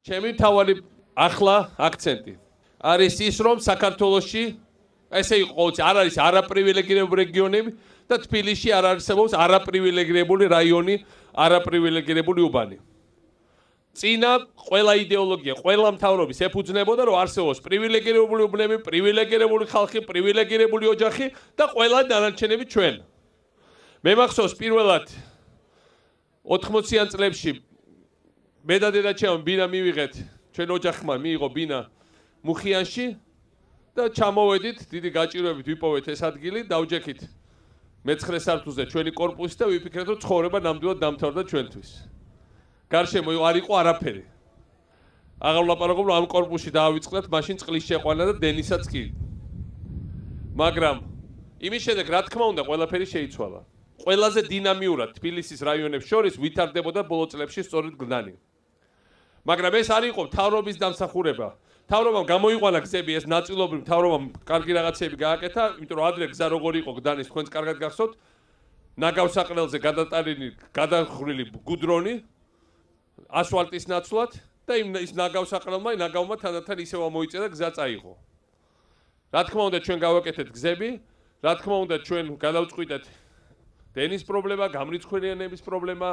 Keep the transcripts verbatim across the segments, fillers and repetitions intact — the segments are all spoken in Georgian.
ჩემი მთავარი ახლა აქცენტი არის ის, რომ საქართველოში ესე იყო, არ არის არაპრივილეგირებული რეგიონები და თბილისში არ არსებობს არაპრივილეგირებული რაიონი, არაპრივილეგირებული უბანი. წინა ყველა იდეოლოგია, ყველა მთავრობის ეფუძნებოდა, რომ არსებობს პრივილეგირებული უბნები, პრივილეგირებული ხალხი, პრივილეგირებული ოჯახი და ყველა დანარჩენები ჩვენ. მე მახსოვს პირველად ოთხმოციან წლებში მე და დედაჩემ ბინა მივიღეთ, ჩვენ ოჯახმა მიიღო ბინა მუხიანში და ჩამოვედით, დიდი გაჭირვებით ვიპოვეთ ეს ადგილი, დავჯექით მეცხრე სართულზე ჩვენი კორპუსი და ვიფიქრეთ, რომ ცხოვრება ნამდვილად დამთავრდა ჩვენთვის. გარშემო არ იყო არაფერი. აღარ ვლაპარაკობ, რომ ამ კორპუსში დაავიწყდათ, მაშინ წყლის შეყვანა და დენისაც კი. მაგრამ იმის შემდეგ, რა თქმა უნდა, ყველაფერი შეიცვალა. ყველაზე დინამიურად თბილისის რაიონებს შორის ვითარდებოდა ბოლო წლებში სწორედ გლდანი. მაგრამ ეს არ იყო მთავრობის დამსახურება. მთავრობამ გამოიყვანა გზები, ეს ნაწილობრივ მთავრობამ კარგი რაღაცები გააკეთა, იმიტომ რომ ადრე გზა როგორ იყო გლდანის, თქვენს კარგად გახსოვთ, ნაგავსაყრელზე გადატანილი, გადახრილი გუდრონი, ასფალტის ნაცვლად და იმ ის ნაგავსაყრელმა, ნაგავმა თანდათან ისევ ამოიწია და გზა წაიღო. რა თქმა უნდა, ჩვენ გავაკეთეთ გზები, რა თქმა უნდა, ჩვენ გადავწყვიტეთ დენის პრობლემა, გამრიცხველიანების პრობლემა,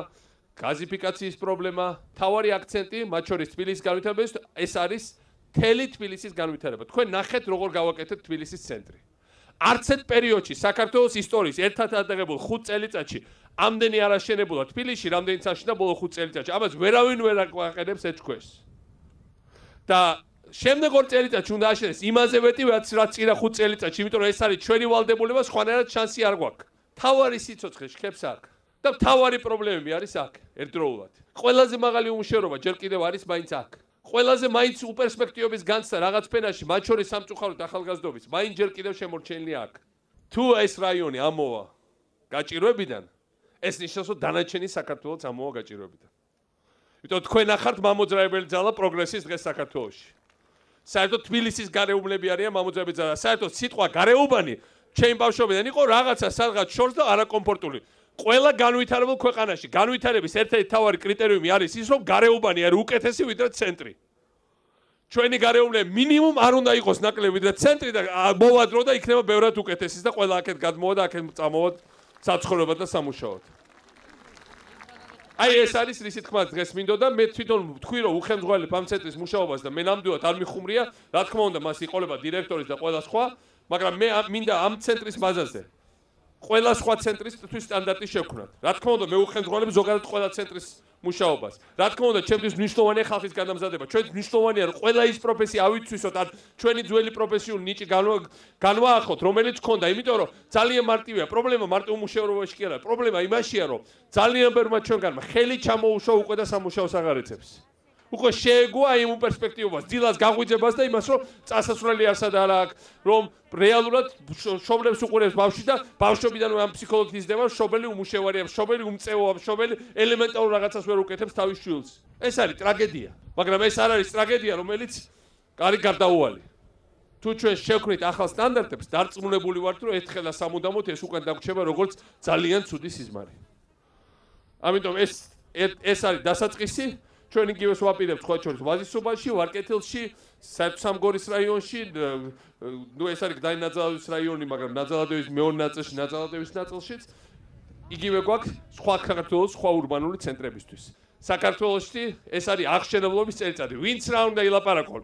გაზიფიკაციის პრობლემა, თავარი აქცენტი, მათ შორის თბილისის განვითარებაში, ეს არის მთელი თბილისის განვითარება. თქვენ ნახეთ, როგორ გავაკეთეთ თბილისის ცენტრი. არც ერთ პერიოდში საქართველოს ისტორიის ერთად ადაღებულ ხუთ წელიწადში ამდენი არ აშენებულა თბილისში, რამდენიც აშენდა ბოლო ხუთ წელიწადში. ამას ვერავინ ვერ აყენებს ეჭქვეს. და შემდეგ ორ წელიწადში უნდა აშენდეს იმაზე მეტი, რაც წინა ხუთ წელიწადში, იმიტომ რომ ეს არის ჩვენი ვალდებულება, სხვანაირად შანსი არ გვაქვს. თავარი სიცოცხლე შეხებს აქ და თავარი პრობლემები არის აქ ერთდროულად. ყველაზე მაღალი უმუშევრობა ჯერ კიდევ არის მაინც აქ. ყველაზე მაინც უპერსპექტივების განცდა რაღაც ფენაში, მათ შორის სამწუხაროდ ახალგაზრდობის, მაინც ჯერ კიდევ შემორჩენილია აქ. თუ ეს რაიონი ამოვა გაჭირვებიდან, ეს ნიშნავს, რომ დანარჩენი საქართველოც ამოვა გაჭირვებიდან. იმიტომ თქვენ ახართ მამოძრავებელი ძალა პროგრესის დღეს საქართველოში. საერთოდ თბილისის გარეუბნები არიან მამოძრავებელი ძალა. საერთოდ სიტყვა გარეუბანი ჩემი ბავშვობიდან იყო რაღაცა სადღაც შორს და არაკომფორტული. ყველა განვითარებულ ქვეყანაში განვითარების ერთ-ერთი მთავარი კრიტერიუმი არის ის, რომ გარეუბანი არის უკეთესი ვიდრე ცენტრი. ჩვენი გარეუბნები მინიმუმ არ უნდა იყოს ნაკლები ვიდრე ცენტრი და მოვადრო და იქნება ბევრად უკეთესი და ყველა აქეთ გადმოვა და აქეთ წამოვად საცხოვრებლად და სამუშაოდ. აი ეს არის რისი თქმა დღეს მინდოდა, მე თვითონ ვთქვი, რომ უხელმძღვანელებ ამ ცენტრის მუშაობას და მე ნამდვილად არ მიხუმრია, რა თქმა უნდა, მას იყოლება დირექტორის და ყველა სხვა, მაგრამ მე მინდა ამ ცენტრის ბაზაზე ყველა სხვა ცენტრისთვის სტანდარტი შევქმნათ. რა თქმა უნდა, მე უხელმძღვანელებ ზოგადად ყველა ცენტრის მუშაობას. რა თქმა უნდა, ჩემთვის მნიშვნელოვანია ხალხის განამზადება. ჩვენთვის მნიშვნელოვანია, რომ ყველა ის პროფესია ავიცვისოთ, ან ჩვენი ძველი პროფესიული ნიჭი განვაახოთ, რომელიც გქონდა, იმიტომ რომ ძალიან მარტივია. პრობლემა მარტო უმუშევრობაში კი არა. პრობლემა იმაშია, რომ ძალიან ბევრმა ჩვენგანმა ხელი ჩამოუშვა უკვე და სამუშაოს აღარ ეცებს. უკვე შეეგუა იმ პერსპექტივას, დილას გაღვიძებას და იმას, რომ წასასვლელი არსად არ აქვს, რომ რეალურად შობლებს უყურებს ბავშვი და ბავშვობიდანვე ამ ფსიქოლოგით იზრდება, შობელი უმუშევარია, შობელი უმწეოა, შობელი ელემენტარულ რაღაცას ვერ უკეთებს თავის შვილს. ეს არის ტრაგედია, მაგრამ ეს არ არის ტრაგედია, რომელიც არის გარდაუვალი. თუ ჩვენ შევქმნით ახალ სტანდარტებს, დარწმუნებული ვართ, რომ ერთხელ და სამუდამოდ ეს უკან დაგვრჩება როგორც ძალიან ცუდი სიზმარი. ამიტომ ეს ეს არის დასაწყისი. ჩვენ იგივეს ვაპირებთ სხვა შორის ვაზისუბანში, ვარკეთილში, საერთო-სამგორის რაიონში, ნუ ეს არის გდანი ნაძალადევის რაიონი, მაგრამ ნაძალადევის მეორე ნაწილში, ნაძალადევის ნაწილშიც იგივე გვაქვს სხვა საქართველოს სხვა ურბანული ცენტრებისთვის. საქართველოში ეს არის აღშენებლობის წელიწადი. ვინც რა უნდა ილაპარაკონ?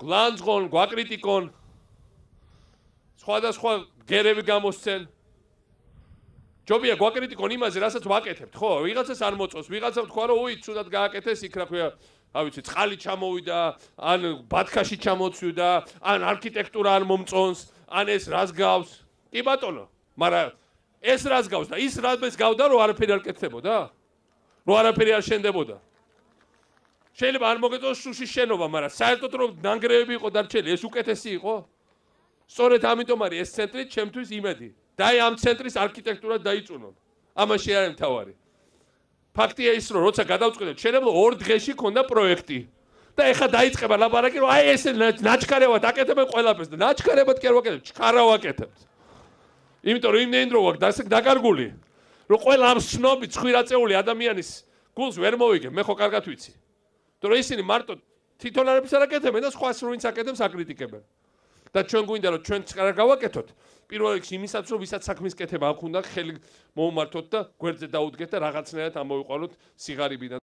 გლანძღონ, გვაკრიტიკონ, სხვადასხვა გერები გამოსცენ. ჯობია გვაკრიტიკონ იმაზე, რასაც ვაკეთებთ, ხო? ვიღაცას არ მოწონს, ვიღაცამ თქვა, რომ უი, ცუდად გააკეთეს, იქ რა ქვია, რა ვიცი, წყალი ჩამოვიდა, ან ბათქაში ჩამოცვიდა, ან არქიტექტურა არ მომწონს, ან ეს რას გავს. კი ბატონო, მაგრამ ეს რას გავს და ის რას გავდა, რომ არაფერი არ კეთდებოდა? რომ არაფერი არ შენდებოდა? შეიძლება არ მოგეწონოს შუშის შენობა, მაგრამ საერთოდ რომ ნანგრევები იყო დარჩენილი, ეს უკეთესი იყო? სწორედ ამიტომ არის ეს ცენტრი ჩემთვის იმედი. და აი ამ ცენტრის არქიტექტურა დაიწუნონ. ამაში არის მთავარი. ფაქტია ის, რომ როცა გადავწყვიტეთ, შეიძლება ორ დღეში ქონდა პროექტი. და ეხლა დაიწყება ლაპარაკი, რომ აი ესე ნაჩქარევად აკეთებენ ყველაფერს და ნაჩქარევად კი არ ვაკეთებთ, ჩქარა ვაკეთებთ. იმიტომ რომ იმდენი დრო ვაქვს დაკარგული, რომ ყველა ამ სნობი ცხვირაწეული ადამიანის გულს ვერ მოვიგებ, მე ხო კარგად ვიცი. რომ ისინი მარტო თვითონ არაფერს არ აკეთებენ და სხვას რო ვინც აკეთებს აკრიტიკებენ. და ჩვენ გვინდა რომ ჩვენც არ გავაკეთოთ. პირველ რიგში იმისაც რომ ვისაც საქმის კეთება აქვს უნდა ხელი მოუმართოთ და გვერდზე დაუდგეთ და რაღაცნაირად ამოვიყვანოთ სიღარიბიდან.